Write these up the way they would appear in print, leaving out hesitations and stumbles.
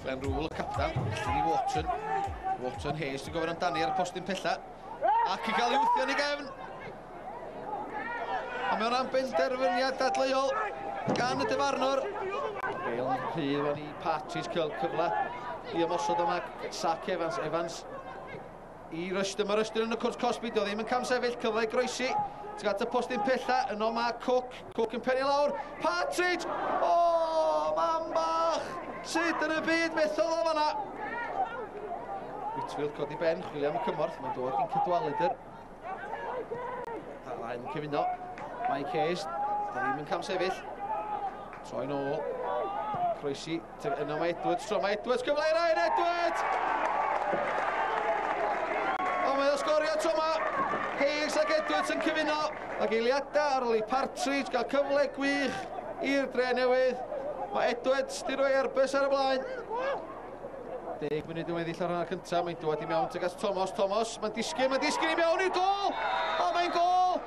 Glenn Rule, y captan, allan i Wharton. Wharton Hayes sy'n gofyn amdani ar y postyn pella. Ac i gael ei wthio yn ei gefn. A mae hwnna'n benderfyniad dadleuol gan y dyfarnwr. Bale yn rhydd fan i Partridge cael cyfle i ymosod yma. Sac Evans, Evans i Rushton. Mae Rushton yn y cwrt cosbi, dio ddim yn camsefyll, cyfle i groesi. Tuag at y postyn pella, yno mae Cook. Cook yn pennu lawr. Partridge! O, oh, mam bach! Sut yn y byd methodd o fanna? Whitfield codi ben, chwilio am y cymorth. Mae'n dod i'n Cadwaladr. A'r ddau'n cyfuno. Mike Hayes, da ddim yn camsefyll. Troi nôl. Croesi. Yno mae Edwards, tro mae Edwards, cyfle i Ryan Edwards! O, mae o sgorio tro ma. Hayes ac Edwards yn cyfuno. Ac eiliadau ar ôl i Partridge gael cyfle gwych i'r Dre Newydd. Mae Edwards di roi Airbus ar y blaen. 10 munud yn weddill ar hanner cyntaf, mae'n dod i mewn tuag at Thomas. Thomas, mae'n disgyn, mae'n disgyn i mewn i'r gol! O, mae'n gol!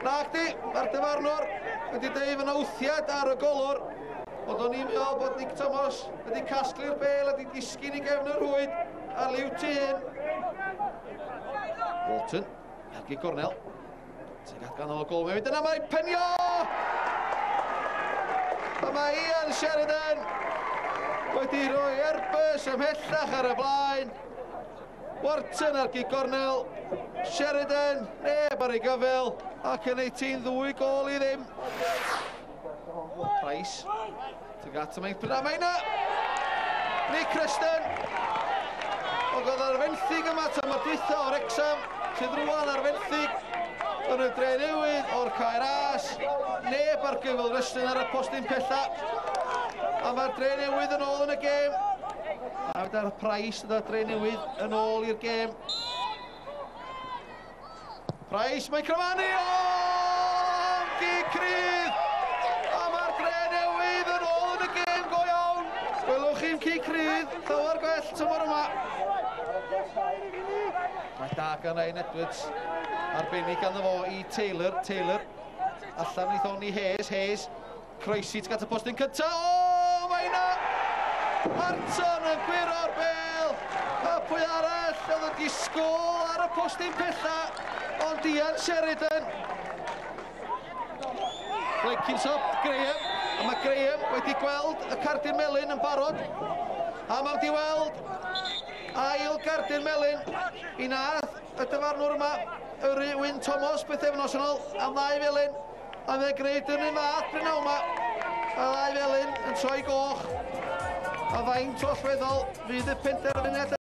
Nac di, mae'r dyfarnwr wedi deud fyna wthiad ar y golwr. Ond o'n i'n meddwl bod Nick Thomas wedi casglu'r bel a wedi disgyn i gefn y rhwyd ar liw tîn. Walton, ar gig gornel. Tuag at ganol y gol, mae'n mynd yna, mae'n penio! A mae Ian Sheridan wedi rhoi Airbus ymhellach ar y blaen. Wharton ar gig gornel, Sheridan, neb ar ei gyfel, ac yn ei tîn 2-0. Price, tuag at y mainc, mae yna! Nick Creston! O oedd ar fenthyg yma tymor dwytha o'r Wrexham, sydd rwan ar fenthyg yn y Dre Newydd o'r Cae Ras. Neb ar gyfel Rushton ar y postyn pella. A mae'r Dre Newydd yn ôl yn y gêm. A gyda'r Price yna Dre Newydd yn ôl i'r gêm. Price, mae'n cryfanu! O! Gic cryf! A mae'r Dre Newydd yn ôl yn y gêm go iawn! Gwelwch chi'n cic cryf, llawer gwell tymor yma. Mae da gan Ryan Edwards. Arbennig ganddo fo i Taylor. Taylor allan i Thony Hayes. Hayes croesi tuag at y postyn cyntaf. O, mae yna! Harton yn gwiro'r bel. A pwy arall oedd y disgwyl ar y postyn pella. Ond Ian Sheridan. Blenkinsop, Graham. A mae Graham wedi gweld y cardyn melyn yn barod. A mae wedi weld ail gardyn melyn i nath y dyfarnwr yma, Yrru Wyn Thomas, bythefnos yn ôl, am ddau felyn. A mae'n gwneud yn un fath prynhawn yma. Y ddau felyn yn troi goch. A faint o allweddol fydd y penderfyniad